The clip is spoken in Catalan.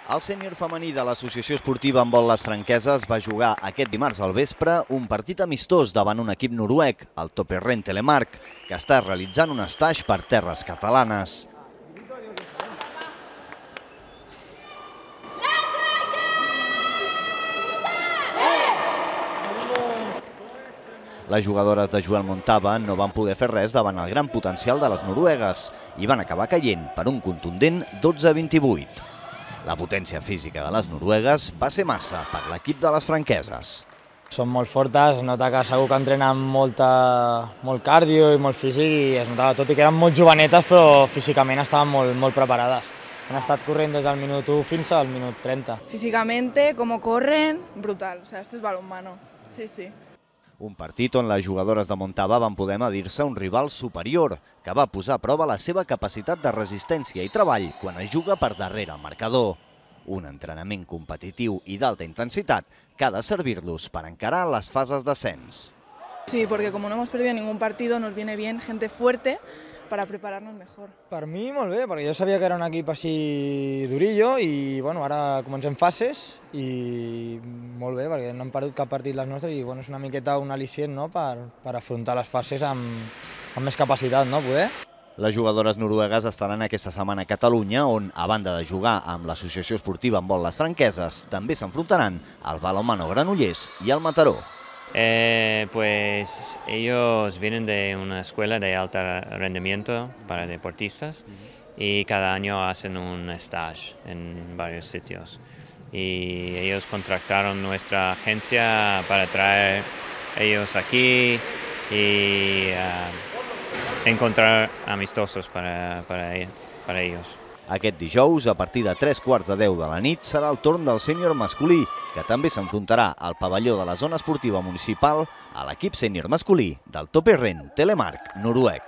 El sènior femení de l'Associació Esportiva Handbol Les Franqueses va jugar aquest dimarts al vespre un partit amistós davant un equip noruec, el Topperen Telemark, que està realitzant un estatge per terres catalanes. Les jugadores de Joel Montava no van poder fer res davant el gran potencial de les noruegues i van acabar caient per un contundent 12-28. La potència física de les noruegues va ser massa per l'equip de les franqueses. Són molt fortes, es nota que segur que entrenen molt cardio i molt físic i es notava, tot i que eren molt jovenetes, però físicament estaven molt preparades. Han estat corrent des del minut 1 fins al minut 30. Físicamente, como corren, brutal. O sea, esto es balonmano. Sí, sí. Un partit on les jugadores de Montava van poder medir-se un rival superior, que va posar a prova la seva capacitat de resistència i treball quan es juga per darrere el marcador. Un entrenament competitiu i d'alta intensitat que ha de servir-los per encarar les fases d'ascens. Sí, porque como no hemos perdido ningún partido, nos viene bien gente fuerte para prepararnos mejor. Per mi molt bé, perquè jo sabia que era un equip així durillo i bueno, ara comencem fases i molt bé, perquè no hem perdut cap partit les nostres i bueno, és una miqueta un al·licient, no?, per afrontar les fases amb més capacitat, no, poder. Les jugadores noruegues estaran aquesta setmana a Catalunya, on, a banda de jugar amb l'Associació Esportiva Handbol Les Franqueses, també s'enfrontaran al Balonmano Granollers i al Mataró. Pues ellos vienen de una escuela de alto rendimiento para deportistas y cada año hacen un stage en varios sitios. Y ellos contrataron nuestra agencia para traer ellos aquí y encontrar amistosos para ellos. Aquest dijous, a partir de 3:15 de la nit, serà el torn del sènior masculí, que també s'enfrontarà al pavelló de la zona esportiva municipal a l'equip sènior masculí del Topperen Telemark noruec.